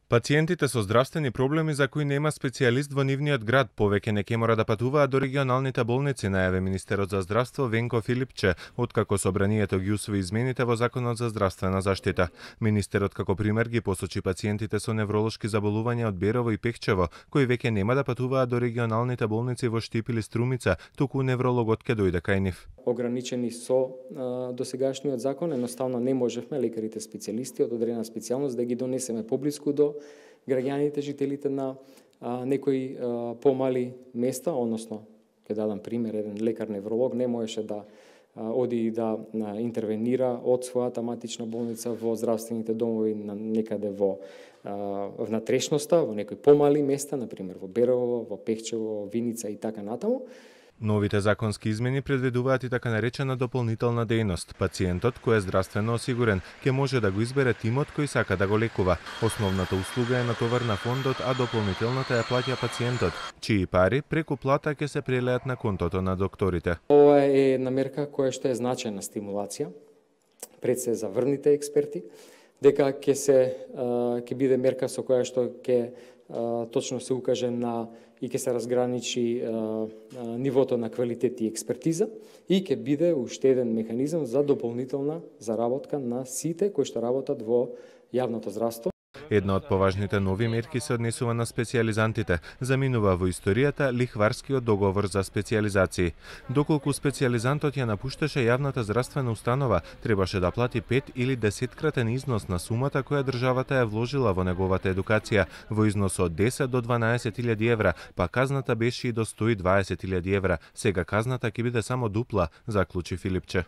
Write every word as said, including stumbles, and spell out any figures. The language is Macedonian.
Пациентите со здравствени проблеми за кои нема специјалист во нивниот град повеќе не ќе мора да патуваат до регионалните болници, најави министерот за здравство Венко Филипче, откако собранието ги усвои измените во Законот за здравствена заштита. Министерот како пример ги посочи пациентите со невролошки заболувања од Берово и Пехчево, кои веќе нема да патуваат до регионалните болници во Штип или Струмица, туку неврологот ќе дојде кај нив. Ограничени со а, досегашниот закон, едноставно не можевме лекарите специјалисти од одредена специјалност да ги донесеме поблиску до граѓаните, жителите на а, некои а, помали места, односно, ќе дадам пример, еден лекар невролог не можеше да а, оди да а, интервенира од својата матична болница во здравствените домови на некаде во а, внатрешноста, во некои помали места, на пример во Берово, во Пехчево, во Виница и така натаму. Новите законски измени предвидуваат и така наречена дополнителна дејност. Пациентот кој е здравствено осигурен ќе може да го избере тимот кој сака да го лекува. Основната услуга е натовар на фондот, а дополнителната ја плаќа пациентот, чии пари преку плата ќе се прелеат на контото на докторите. Ова е една мерка која што е значајна стимулација пред се за врвните експерти, дека ќе се ќе биде мерка со која што ќе точно се укаже на и ќе се разграничи а, а, нивото на квалитет и експертиза и ќе биде уште еден механизам за дополнителна заработка на сите кои што работат во јавното здравство. Една од поважните нови мерки се однесува на специјализантите. Заминува во историјата лихварскиот договор за специјализации. Доколку специјализантот ја напушташе јавната здравствена установа, требаше да плати пет или десеткратен износ на сумата која државата ја вложила во неговата едукација, во износ од десет до дванаесет илјади евра, па казната беше и до сто и дваесет илјади евра. Сега казната ќе биде само дупла, заклучи Филипче.